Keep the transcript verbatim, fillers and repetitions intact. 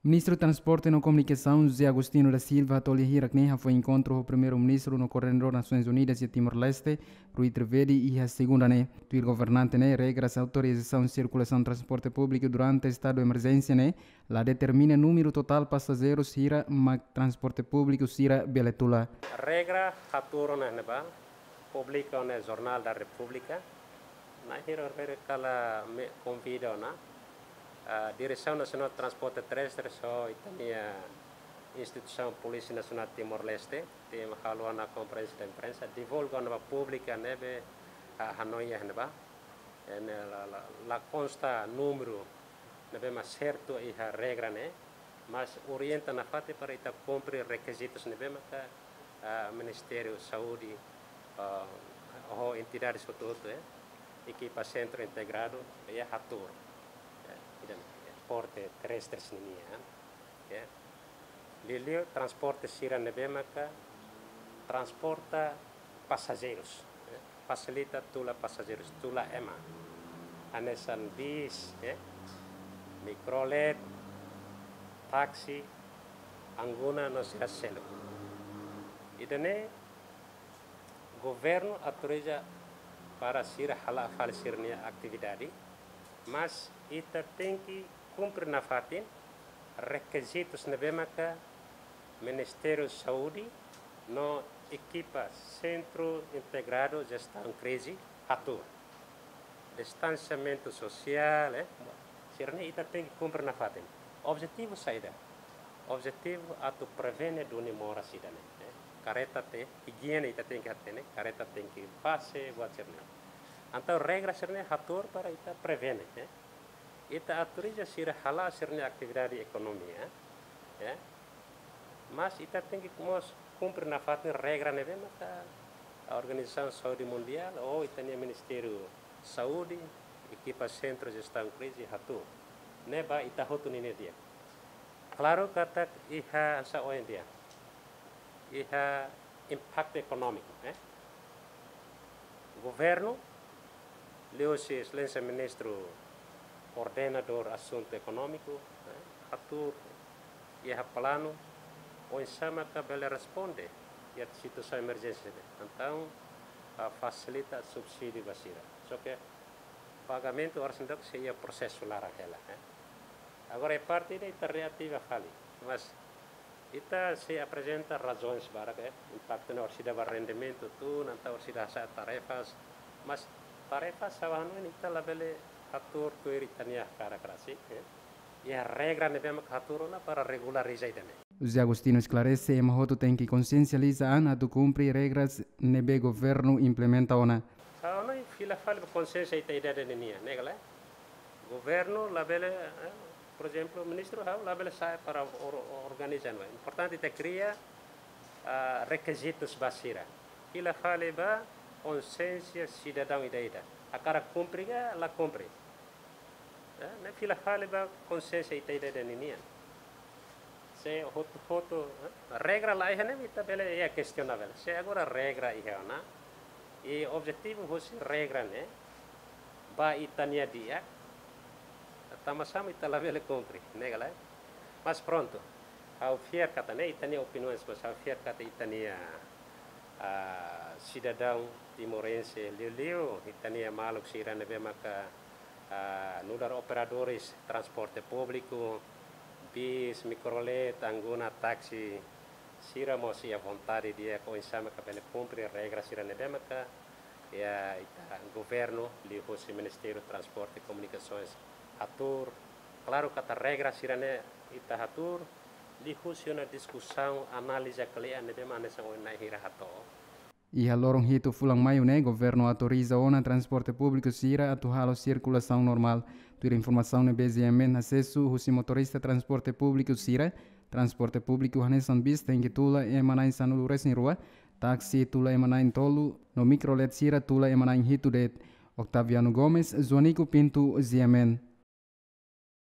Ministru Transporte no Komunikasaun, José Agostinho da Silva, to'o lia hirak ne'e hafoin enkontru ho Primeiru-Ministru no Koordenadór Nasoins Unidas iha Timor-Leste, Rui Trivedi, iha segunda ne'e. Tuir governante ne'e, regras autorizasaun sirkulasaun transporte públiku durante estadu emerjénsia ne'e la determina númeru totál pasajeirus hira mak transporte públiku sira bele tula. Regra hatuur ona ne'ebá, publika ona Jornál da Repúblika. Na'in hira horibainrua kala ami konvida ona, ah, Diresaun Nasionál Transporte Terrestre ho ita-nia instituisaun Polísia Nasionál Timor-Leste, ita halo ona konferénsia de imprensa, divulga ona ba públiku ne'ebé, ah, hanoin iha ne'ebá. Ne'e la, la, la konsta númeru ne'ebé mak sertu iha regra ne'e, mas orienta nafatin para ita kumpre rekizitus ne'ebé maka, ah, Ministériu Saúde, ah, ho entidades hotu-hotu, eh, ekipa sentru integradu, eh, hatuur. Eh, ida-ne'e, eh, porte terrestres ninia, eh. Liuliu transporte sira ne'ebé maka transporta pasajeirus, eh, fasilita tula pasajeirus, tula ema. Hanesan bis, eh, mikrolet, táksi, angguna no sira seluk. Ida-ne'e governu autoriza para sira hala'o fali sira-nia atividade, mas ita tenke kumpre nafatin rekizitus ne'ebé maka Ministériu Saúde no ekipa Sentru Integradu Jestaun Krize hatuur. Distansiamentu sosiál, eh, sira-ne'e ita tenke kumpre nafatin. Objetivu saida? Objetivu atu prevene duni moras ida-ne'e, eh. Karreta tenke, ijiene ita tenke hatene, karreta tenke pase, buat sira-ne'e. Entaun regra sira-ne'e hatuur para ita prevene, eh. Ita autoriza sira hala'o sira-nia atividade ekonomia, eh. Mas ita tenke mós kumpre nafatin regra ne'ebé maka Organizasaun Saúde Mundiál ou ita-nia Ministériu Saúde, ekipa Sentru Jestaun Krize hatuur. Ne'e ba ita hotu ninia di'ak. Klaru katak iha sa oin dia. Iha impaktu ekonómiku, eh. Governu, liuhusi Exelénsia Ministru Koordenadór Asuntu Ekonómiku, eh, hatuur iha planu oinsá maka bele responde iha situasaun emerjénsia ne'e. Entaun, ah, fasilita subsídiu ba sira. Só ke pagamentu oras ne'e daudaun sei iha prosesu laran hela, eh. Agora iha parte ida ita reativa fali. Mas ita sei aprezenta razaun barak, eh, impaktu ne'e orsida ba rendimentu tun, entaun orsida hasa'e tarefas. Mas tarefas sira-ne'e ita labele hatuur tuir ita-nia hakarak rasik, eh. Iha regra ne'ebé maka hatuur ona para regulariza ida-ne'e. José Agostinho esklarese, ema hotu tenke konsiensializa an atu kumpre regras ne'ebé governu implementa ona. Sira-ne'e fila fali ba konsiénsia ita ida-idak nian, ne'e ka lae? Governu labele, eh, por ezemplu, ministru ha'u labele sa'e para or-, organiza, no. Importante ita kria, ah, rekizitus ba sira. Fila fali ba konsiénsia sidadaun ida-idak. Hakarak kumpre ka la kumpre. Eh, ne'e fila fali ba konsiénsia ita ida-idak nian. Se hotu-hotu, eh, regra la iha ne'e ita bele iha kestionavel. Se agora regra iha ona, i objetivu husi regra ne'e ba ita-nia di'ak, tanba sá mak ita labele kumpre, ne'e ka lae? Mas prontu, ha'u fiar katak ne'e ita-nia opiniaun, mas ha'u fiar katak ita-nia, ah, sidadaun timorense, liuliu ita-nia maluk sira ne'ebé maka, ah, nu'udar operadores transporte públiku, bis, mikrolet, angguna, táksi, sira mós iha vontade di'ak oinsá maka bele kumpre regra sira ne'ebé maka iha ita governu, liuhusi Ministériu Transporte e Komunikasoens hatuur. Klaru katak regra sira-ne'e ita hatuur liuhusi ona diskusaun, análize kle'an ne'ebé mak hanesan ohin na'in hira hato'o. Iha loron hitu fulan Maiu ne'e, governu autoriza ona transporte públiku sira atu halo sirkulasaun normál. Tuir informasaun ne'ebé GMN asesu husi motorista transporte públiku sira, transporte públiku hanesan bis tenke tula ema na'in sanulu-resin-rua, táksi tula ema na'in-tolu, no mikrolet sira tula ema na'in-hitu de'it. Octaviano Gomes, Joanico Pinto, GMN.